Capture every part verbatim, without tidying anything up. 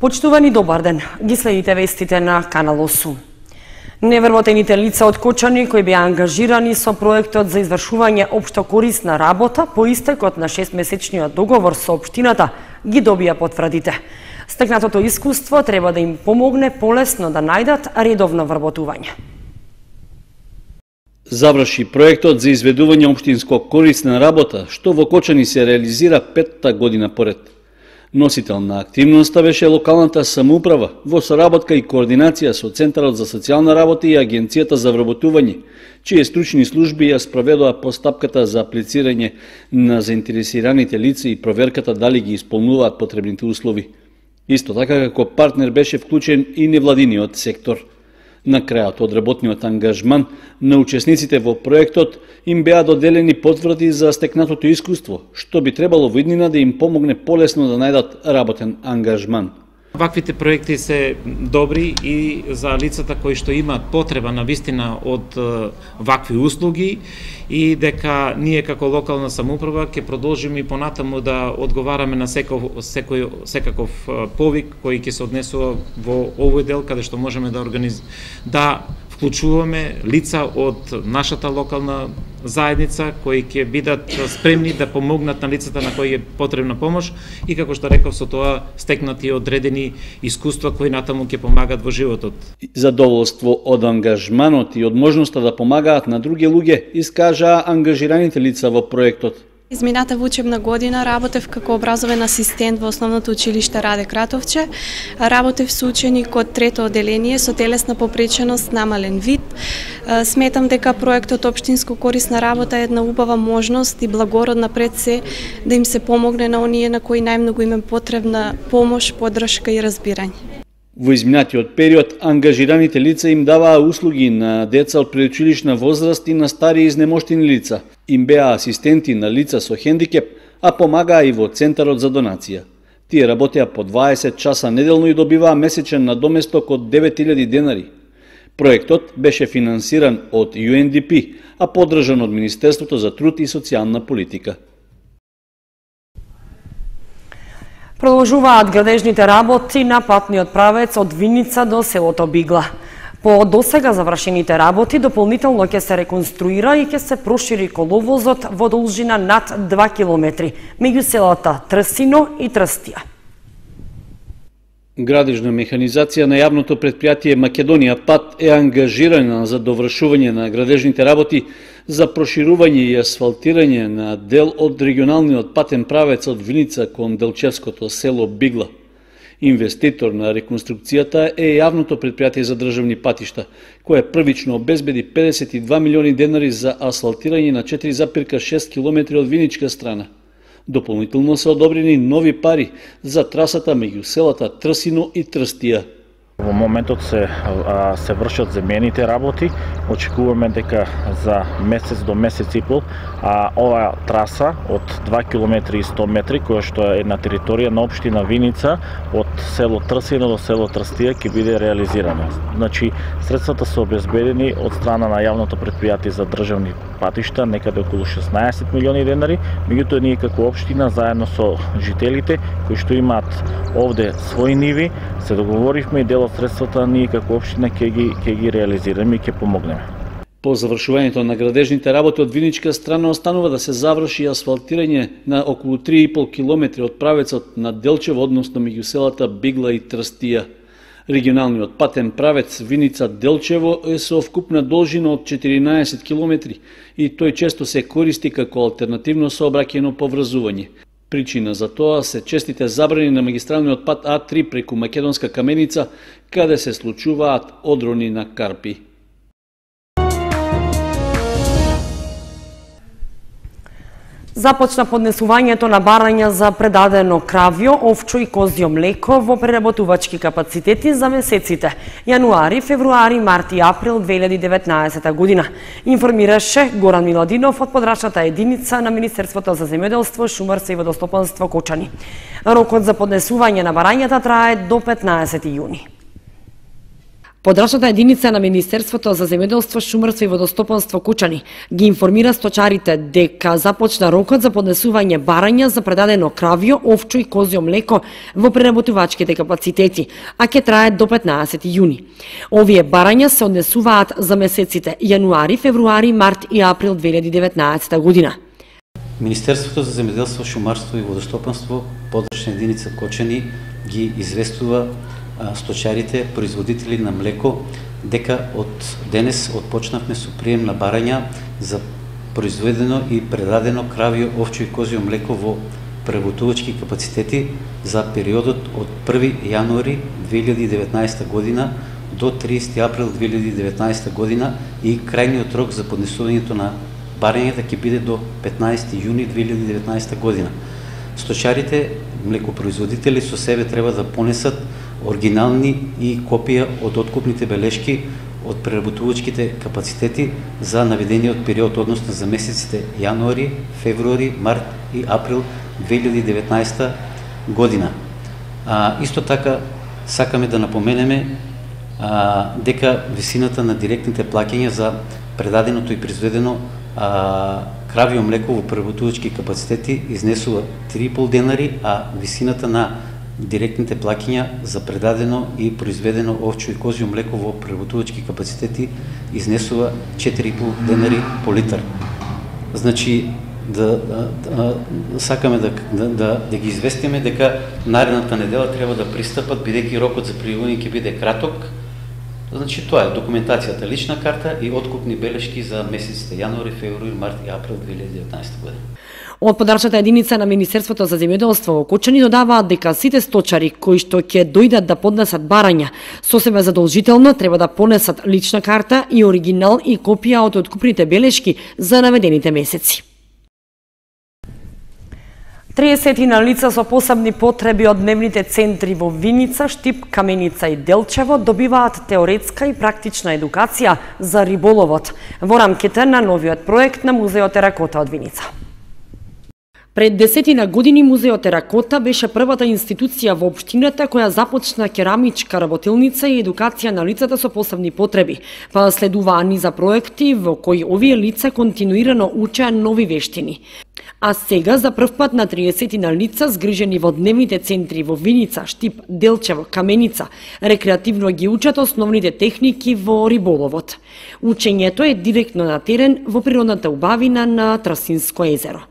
Почитувани, добар ден. Ги следите вестите на Канал осум. Невработените лица од Кочани кои беа ангажирани со проектот за извршување општо корисна работа по истекот на шестмесечниот договор со општината ги добија потврдите. Стекнатото искуство треба да им помогне полесно да најдат редовно вработување. Заврши проектот за изведување општинско корисна работа, што во Кочани се реализира петта година поред. Носител на активноста беше локалната самоуправа во соработка и координација со Центарот за социјална работа и Агенцијата за вработување, чии стручни служби ја спроведоа постапката за аплицирање на заинтересираните лица и проверката дали ги исполнуваат потребните услови. Исто така како партнер беше вклучен и невладиниот сектор. На крајот од работниот ангажман на учесниците во проектот им беа доделени потврди за стекнатото искуство, што би требало во иднина да им помогне полесно да најдат работен ангажман. Ваквите проекти се добри и за лицата кои што имаат потреба на вистина од вакви услуги и дека ние како локална самоуправа ќе продолжиме и понатаму да одговараме на секој, секој, секаков повик кој ќе се однесува во овој дел каде што можеме да организ... да вклучуваме лица од нашата локална заедница кои ќе бидат спремни да помогнат на лицата на кои е потребна помош и како што реков со тоа стекнати одредени искуства кои натаму ќе помагат во животот. Задоволство од ангажманот и од можноста да помагаат на други луѓе искажаа ангажираните лица во проектот. Измината учебна година работев како образовен асистент во Основното училиште Раде Кратовче. Работев со ученик од трето оделение со телесна попреченост намален вид. Сметам дека проектот Општинско корисна работа е една убава можност и благородна пред се да им се помогне на оние на кои најмногу им е потребна помош, поддршка и разбирање. Во изминатиот период, ангажираните лица им даваа услуги на деца од предучилишна возраст и на стари изнемоштени лица. Им беа асистенти на лица со хендикеп, а помагаа и во Центарот за донација. Тие работеа по дваесет часа неделно и добиваа месечен надоместок од девет илјади денари. Проектот беше финансиран од Ю Ен Ди Пи, а поддржан од Министерството за труд и социјална политика. Продолжуваат градежните работи на патниот правец од Виница до селото Бигла. По досега завршените работи дополнително ќе се реконструира и ќе се прошири коловозот во должина над два километри меѓу селата Трсино и Трстија. Градежна механизација на јавното предпријатие Македонија Пат е ангажирана за довршување на градежните работи за проширување и асфалтирање на дел од регионалниот патен правец од Виница кон делчевското село Бигла. Инвеститор на реконструкцијата е јавното предпријатие за државни патишта, кое првично обезбеди педесет и два милиони денари за асфалтирање на четири запирка шест километри од виничка страна. Дополнително се одобрени нови пари за трасата меѓу селата Трсино и Трстија. Во моментот се а, се вршат земјените работи. Очекуваме дека за месец до месец и пол а оваа траса од два километри и сто метри, која што е на територија на општина Виница од село Трсино до село Трстија ќе биде реализирана. Значи средствата се обезбедени од страна на јавното предпријатие за државни патишта, некаде околу шеснаесет милиони денари, меѓутоа ние како општина заедно со жителите кои што имаат овде своји ниви, се договоривме и дел од средствата ние како општина ќе ги ќе ги реализираме и ќе помогнеме. По завршувањето на градежните работи од виничка страна останува да се заврши асфалтирање на околу три и пол километри од правецот на Делчево, односно меѓу селата Бигла и Трстија. Регионалниот патен правец Виница-Делчево е со вкупна должина од четиринаесет километри и тој често се користи како алтернативно сообраќајно поврзување. Причина за тоа се честите забрани на магистралниот пат А три преку Македонска Каменица, каде се случуваат одрони на карпи. Започна поднесувањето на барања за предадено кравјо, овчо и козјо млеко во преработувачки капацитети за месеците јануари, февруари, март и април две илјади и деветнаесета година, информираше Горан Миладинов од подрачната единица на Министерството за земјоделство, шумарство и водостопанство Кочани. Рокот за поднесување на барањата трае до петнаесети јуни. Подрачната единица на Министерството за земјоделство, шумарство и водостопанство Кучани ги информира сточарите дека започна рокот за поднесување барања за предадено кравјо, овчо и козјо млеко во преработувачките капацитети, а ќе трае до петнаесети јуни. Овие барања се однесуваат за месеците јануари, февруари, март и април две илјади и деветнаесетта година. Министерството за земјоделство, шумарство и водостопанство, подрачна единица Кочани ги известува сточарите, производители на млеко, дека од денес отпочнавме со прием на барања за произведено и предадено кравјо, овчо и козјо млеко во преработувачки капацитети за периодот од први јануари две илјади и деветнаесетта година до триесети април две илјади и деветнаесетта година и крајниот рок за поднесувањето на барањата ќе биде до петнаесети јуни две илјади и деветнаесетта година. Сточарите, млекопроизводители со себе треба да понесат оригинални и копија од откупните белешки од преработувачките капацитети за наведениот период, односно за месеците јануари, февруари, март и април две илјади и деветнаесетта година. А, исто така сакаме да напоменеме а, дека висината на директните плаќања за предаденото и произведено а, кравјо млеко во преработувачки капацитети изнесува три и пол денари, а висината на директните плаќања за предадено и произведено овчо и козјо млеко во преработувачки капацитети изнесува четири и пол денари по литар. Значи, да, да, да сакаме да, да, да, да ги известиме дека наредната недела треба да пристапат, бидејќи рокот за пријавување ќе биде краток. Значи, тоа е документацијата, лична карта и откупни белешки за месеците јануари, февруари, март и април две илјади и деветнаесетта година. Од подрачната единица на Министерството за земјоделство во Кочани додаваат дека сите сточари кои што ќе дојдат да поднесат барања, со себе задолжително треба да понесат лична карта и оригинал и копија од откупните белешки за наведените месеци. триесетина лица со посебни потреби од дневните центри во Виница, Штип, Каменица и Делчево добиваат теоретска и практична едукација за риболовот во рамките на новиот проект на Музеот Теракота од Виница. Пред десетина години Музеот Теракота беше првата институција во општината која започна керамичка работилница и едукација на лицата со посебни потреби, па следуваа низа проекти во кои овие лица континуирано учеа нови вештини. А сега за прв пат на триесетина лица згрижени во дневните центри во Виница, Штип, Делчево, Каменица, рекреативно ги учат основните техники во риболовот. Учењето е директно на терен во природната убавина на Трасинско езеро.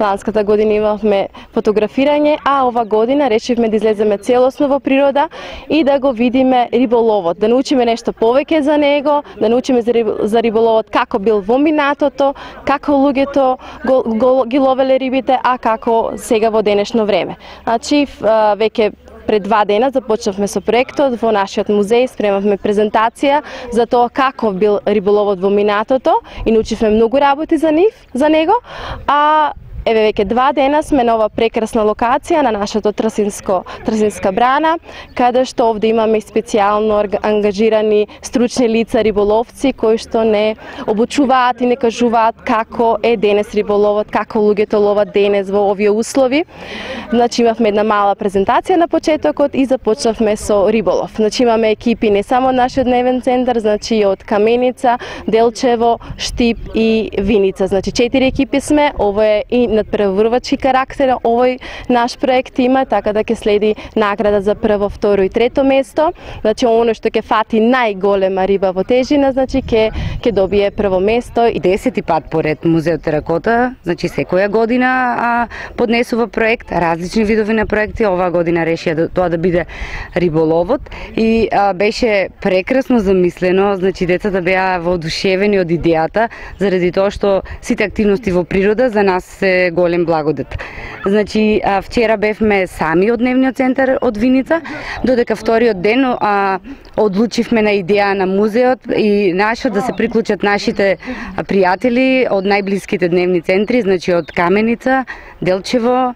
Ланската година имавме фотографирање, а ова година решивме да излеземе целосно во природа и да го видиме риболовот, да научиме нешто повеќе за него, да научиме за риболовот како бил во минатото, како луѓето го, го, ги ловеле рибите, а како сега во денешно време. Значи, веќе пред два дена започнавме со проектот во нашиот музеј, спремавме презентација за тоа како бил риболовот во минатото и научивме многу работи за нив, за него, а еве веќе два дена сме на ова прекрасна локација на нашата Трасинско, Трасинска брана, каде што овде имаме специјално ангажирани стручни лица риболовци кои што не обучуваат и не кажуваат како е денес риболовот, како луѓето ловат денес во овие услови. Значи имавме една мала презентација на почетокот и започнавме со риболов. Значи имаме екипи не само од нашиот дневен центар, значи од Каменица, Делчево, Штип и Виница. Значи четири екипи сме, ово е и надпреварувачки карактер овој наш проект има, така да ќе следи награда за прво, второ и трето место. Значи оно што ќе фати најголема риба во тежина, значи ќе ќе добие прво место. И десети пат поред Музеот Теракота, значи секоја година а, поднесува проект, различни видови на проекти. Оваа година решија да, тоа да биде риболовот и а, беше прекрасно замислено, значи децата беа воодушевени од идејата заради тоа што сите активности во природа за нас се голем благодет. Значи, вчера бевме сами од дневниот центар од Виница, додека вториот ден а, одлучивме на идеја на музеот и нашот да се приклучат нашите пријатели од најблиските дневни центри, значи од Каменица, Делчево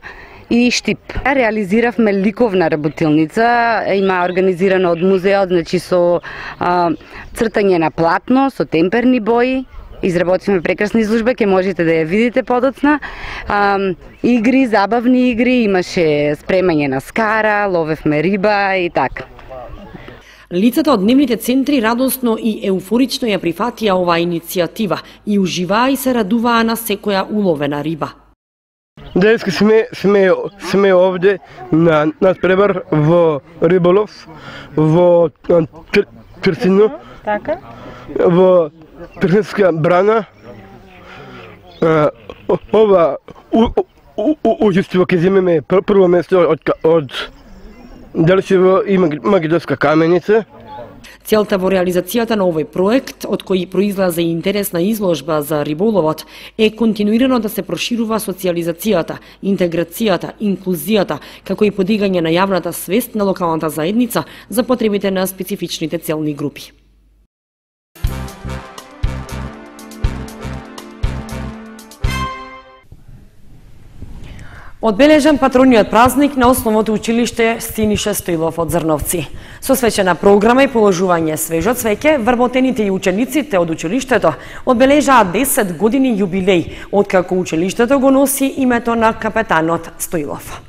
и Штип. Реализиравме ликовна работилница, има организирана од музеот, значи со а, цртање на платно, со темперни бои. Изработивме прекрасна изложба, ќе можете да ја видите подоцна. А, игри, забавни игри, имаше спремање на скара, ловевме риба и така. Лицата од дневните центри радосно и еуфорично ја прифатија оваа иницијатива и уживаа и се радуваа на секоја уловена риба. Денеска сме, сме, сме овде на надпревар во риболов, во Трстино, така? во Трстинска брана. Ова учество ќе земеме прво место од, од Делчево и Македонска каменица. Целта во реализацијата на овој проект, од кој произлезе интересна изложба за риболовот, е континуирано да се проширува социјализацијата, интеграцијата, инклузијата, како и подигање на јавната свест на локалната заедница за потребите на специфичните целни групи. Одбележан патрониот празник на основното училиште Синиша Стоилов од Зрновци. Со свечена програма и положување свежо цвеќе, вработените и учениците од училиштето одбележаат десет години јубилеј, откако училиштето го носи името на капетанот Стоилов.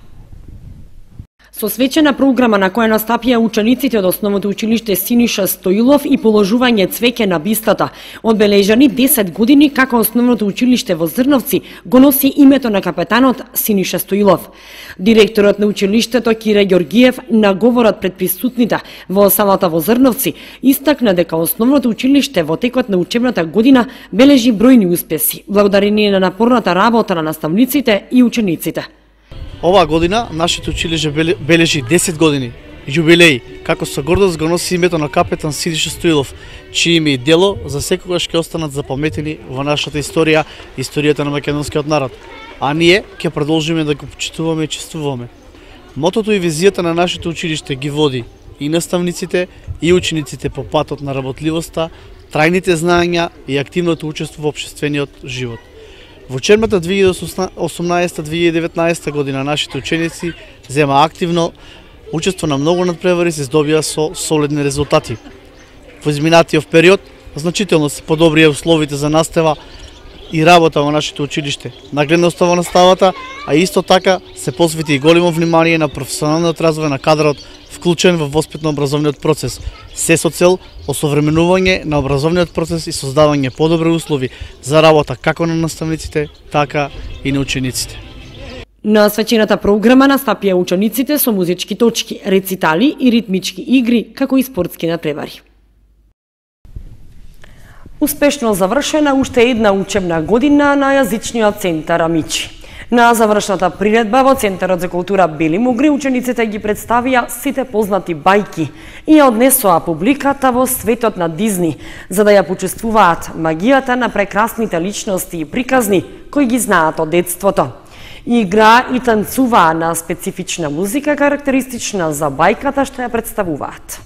Со свечена програма на која настапија учениците од основното училиште Синиша Стоилов и положување цвеќе на бистата, одбележани десет години како основното училиште во Зрновци го носи името на капетанот Синиша Стоилов. Директорот на училиштето Кире Ѓоргиев на говорот пред присутните во салата во Зрновци истакна дека основното училиште во текот на учебната година бележи бројни успеси, благодарение на напорната работа на наставниците и учениците. Оваа година нашето училиште бележи десет години јубилеј, како со гордост го носи името на капетан Синиша Стоилов, чие име и дело за секогаш ќе останат запаметени во нашата историја, историјата на македонскиот народ, а ние ќе продолжиме да го почитуваме и чествуваме. Мотото и визијата на нашето училиште ги води и наставниците и учениците по патот на работливоста, трајните знаења и активното учество во општествениот живот. Во учебната две илјади и осумнаесета - две илјади и деветнаесета година нашите ученици зема активно учество на многу надпревари и се здобија со солидни резултати. Во изминатиот период значително се подобрија условите за настава и работа во нашето училиште, нагледноста во наставата, а исто така се посвети и големо внимание на професионалниот развој на кадрот вклучен во воспитно-образовниот процес, се со цел осовременување на образовниот процес и создавање подобри услови за работа како на наставниците, така и на учениците. На свечената програма настапија учениците со музички точки, рецитали и ритмички игри, како и спортски надпревари. Успешно завршена уште една учебна година на јазичниот центар Амичи. На завршната приредба во Центарот за култура Бели Мугри учениците ги представија сите познати бајки и ја однесоа публиката во светот на Дизни, за да ја почувствуваат магијата на прекрасните личности и приказни кои ги знаат од детството. Игра и танцуваа на специфична музика карактеристична за бајката што ја представуваат.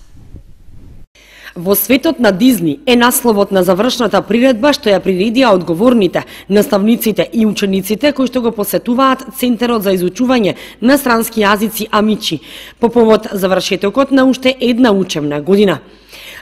Во светот на Дизни е насловот на завршната приредба што ја приредија одговорните, наставниците и учениците кои што го посетуваат Центарот за изучување на странски јазици Амичи по повод завршетокот на уште една учебна година.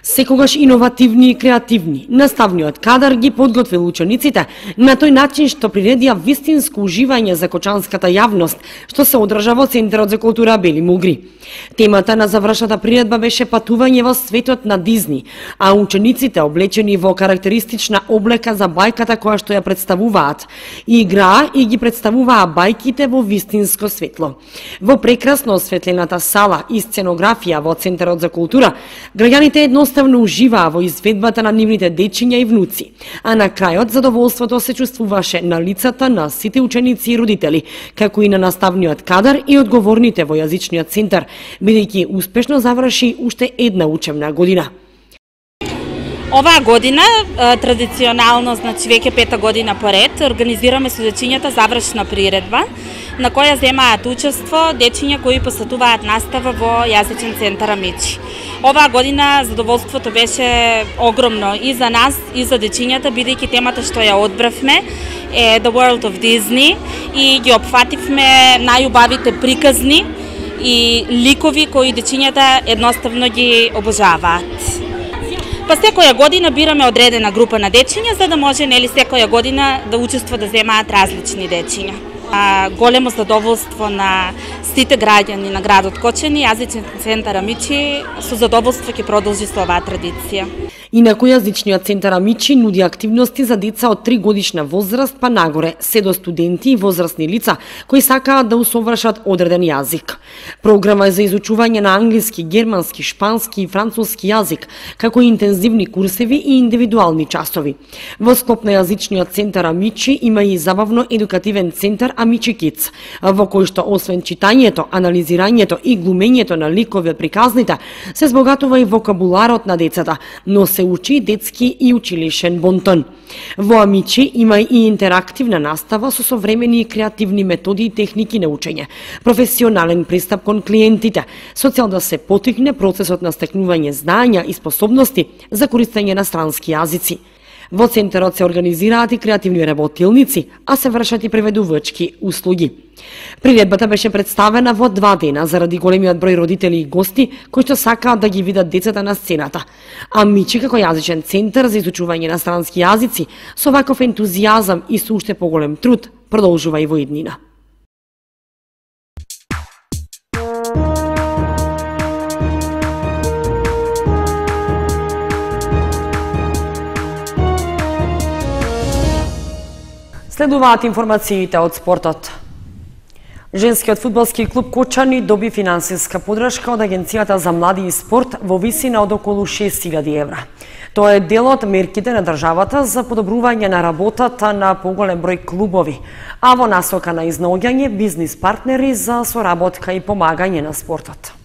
Секогаш иновативни и креативни, наставниот кадар ги подготвил учениците на тој начин што приредија вистинско уживање за кочанската јавност, што се одржа во Центарот за култура Бели Мугри. Темата на завршната приредба беше патување во светот на Дизни, а учениците, облечени во карактеристична облека за бајката која што ја представуваат, играа и ги представуваа бајките во вистинско светло. Во прекрасно осветлената сала и сценографија во Центарот за култура, граѓаните едноставно уживаа во изведбата на нивните дечиња и внуци, а на крајот задоволството се чувствуваше на лицата на сите ученици и родители, како и на наставниот кадар и одговорните во јазичниот центар, бидејќи успешно заврши уште една учебна година. Оваа година, традиционално, значи веќе пета година поред, организираме со дечињата завршна приредба, на која земаат учество дечиња кои посетуваат настава во јазичен центар Амичи. Оваа година задоволството беше огромно и за нас, и за дечињата, бидејќи темата што ја одбравме е The World of Disney и ги опфативме најубавите приказни и ликови кои дечињата едноставно ги обожаваат. Па секоја година бираме одредена група на дечиња за да може нели секоја година да учество да земаат различни дечиња. Големо задоволство на сите граѓани на градот Кочани, јазичен центар Амичи со задоволство ќе продолжи со оваа традиција. Инаку јазичниот центар Амичи нуди активности за деца од три годишна возраст па нагоре, се до студенти и возрастни лица кои сакаат да усовршат одреден јазик. Програма е за изучување на англиски, германски, шпански и француски јазик, како и интензивни курсеви и индивидуални часови. Во склоп на јазичниот центар Амичи има и забавно-едукативен центар Амичи Kids, во кој што освен читањето, анализирањето и глумењето на ликови од приказните, се збогатува и вокабуларот на децата, но се учи детски и училишен бонтон. Во Амичи има и интерактивна настава со современи и креативни методи и техники на учење, професионален пристап кон клиентите, со цел да се потикне процесот на стекнување знања и способности за користење на странски јазици. Во центарот се организираат и креативни работилници, а се вршат и преведувачки услуги. Приредбата беше представена во два дена заради големиот број родители и гости кои што сакаат да ги видат децата на сцената. Амичи како јазичен центар за изучување на странски јазици со ваков ентузијазам и со уште поголем труд продолжува и во иднина. Следуваат информациите од спортот. Женскиот фудбалски клуб Кочани доби финансиска подршка од Агенцијата за млади и спорт во висина од околу шест илјади евра. Тоа е дел од мерките на државата за подобрување на работата на поголем број клубови, а во насока на изнаоѓање бизнис партнери за соработка и помагање на спортот.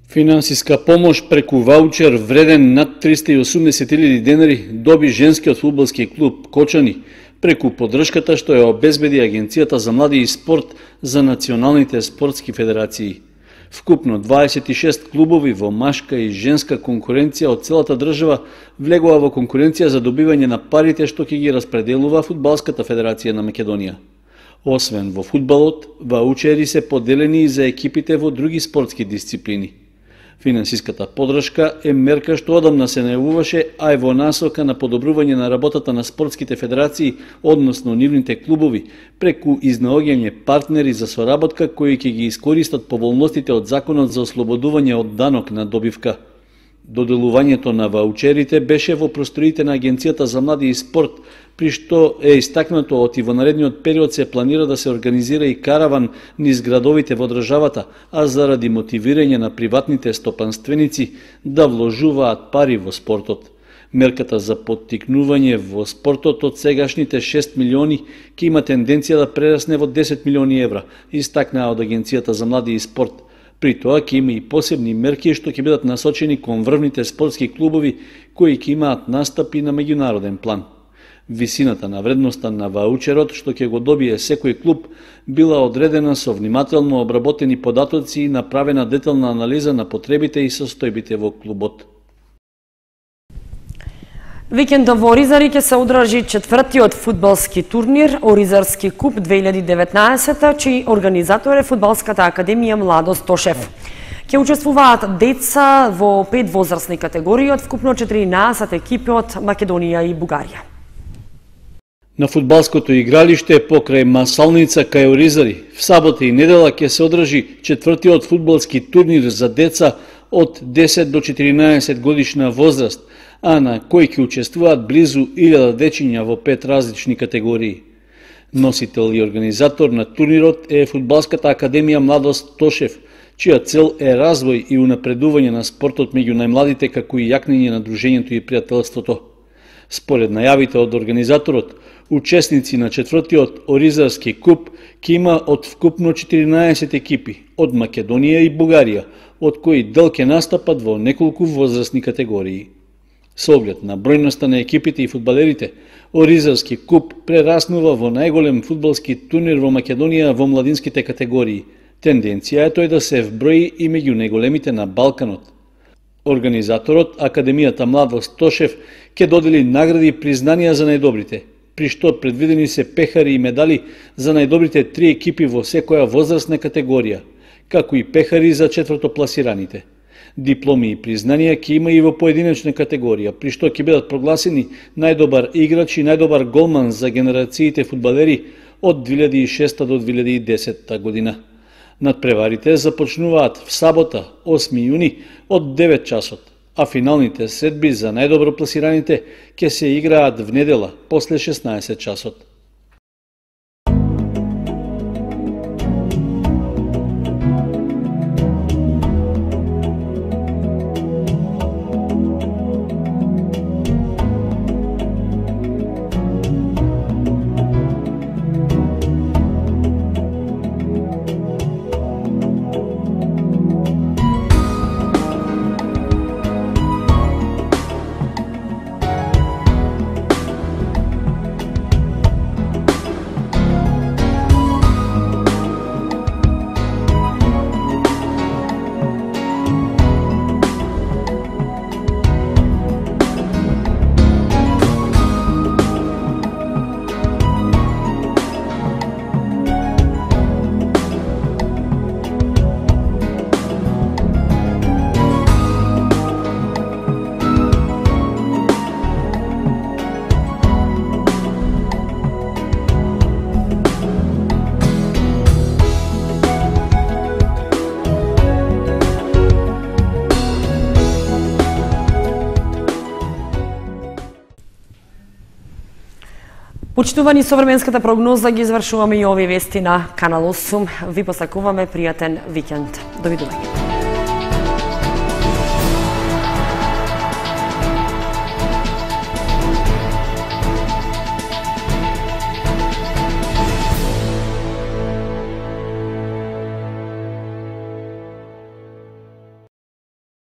Финансиска помош преку ваучер вреден над триста и осумдесет илјади денари доби женскиот фудбалски клуб Кочани преку поддршката што ја обезбеди Агенцијата за млади и спорт за националните спортски федерации. Вкупно дваесет и шест клубови во машка и женска конкуренција од целата држава влегува во конкуренција за добивање на парите што ќе ги распределува Фудбалската федерација на Македонија. Освен во фудбалот, ваучери се поделени и за екипите во други спортски дисциплини. Финансиската поддршка е мерка што одамна се најавуваше, а е во насока на подобрување на работата на спортските федерации, односно нивните клубови, преку изнаоѓање партнери за соработка кои ќе ги искористат поволностите од Законот за ослободување од данок на добивка. Доделувањето на ваучерите беше во просториите на Агенцијата за млади и спорт, при што е истакнато од и во наредниот период се планира да се организира и караван низ градовите во државата, а заради мотивирање на приватните стопанственици да вложуваат пари во спортот. Мерката за поттикнување во спортот од сегашните шест милиони ќе има тенденција да прерасне во десет милиони евра, истакнаа од Агенцијата за млади и спорт. При тоа ќе има и посебни мерки што ќе бидат насочени кон врвните спортски клубови кои ќе имаат настапи на меѓународен план. Висината на вредноста на ваучерот што ќе го добие секој клуб била одредена со внимателно обработени податоци и направена детална анализа на потребите и состојбите во клубот. Викендов во Оризари ќе се одржи четвртиот фудбалски турнир Оризарски куп две илјади и деветнаесета, чиј организатор е Фудбалската академија Младост Тошев. Ќе учествуваат деца во пет возрастни категории од вкупно четиринаесет екипи од Македонија и Бугарија. На фудбалското игралиште покрај Масалница кај Оризари в сабота и недела ќе се одржи четвртиот фудбалски турнир за деца од десет до четиринаесет годишна возраст, а на кој ќе учествуваат близу илјада дечиња во пет различни категории. Носител и организатор на турнирот е Фудбалската академија Младост Тошев, чија цел е развој и унапредување на спортот меѓу најмладите како и јакнење на дружењето и пријателството. Според најавите од организаторот, учесници на четвртиот Оризарски куп ќе има од вкупно четиринаесет екипи од Македонија и Бугарија, од кои дел ќе настапат во неколку возрастни категории. Со оглед на бројноста на екипите и фудбалерите, Оризарски куп прераснува во најголем фудбалски турнир во Македонија во младинските категории. Тенденција е тој да се вброи и меѓу најголемите на Балканот. Организаторот, Академијата Младост Тошев, ќе додели награди и признанија за најдобрите, при што предвидени се пехари и медали за најдобрите три екипи во секоја возрастна категорија, како и пехари за четвртопласираните. Дипломи и признанија ќе има и во поединечна категорија, при што ќе бидат прогласени најдобар играч и најдобар голман за генерациите фудбалери од две илјади и шеста до две илјади и десетта година. Надпреварите започнуваат в сабота, осми јуни, од девет часот, а финалните средби за најдобро пласираните ќе се играат в недела после шеснаесет часот. Почитувани, со временската прогноза ги извршуваме и овие вести на Канал осум. Ви посакуваме пријатен викенд. Довидување.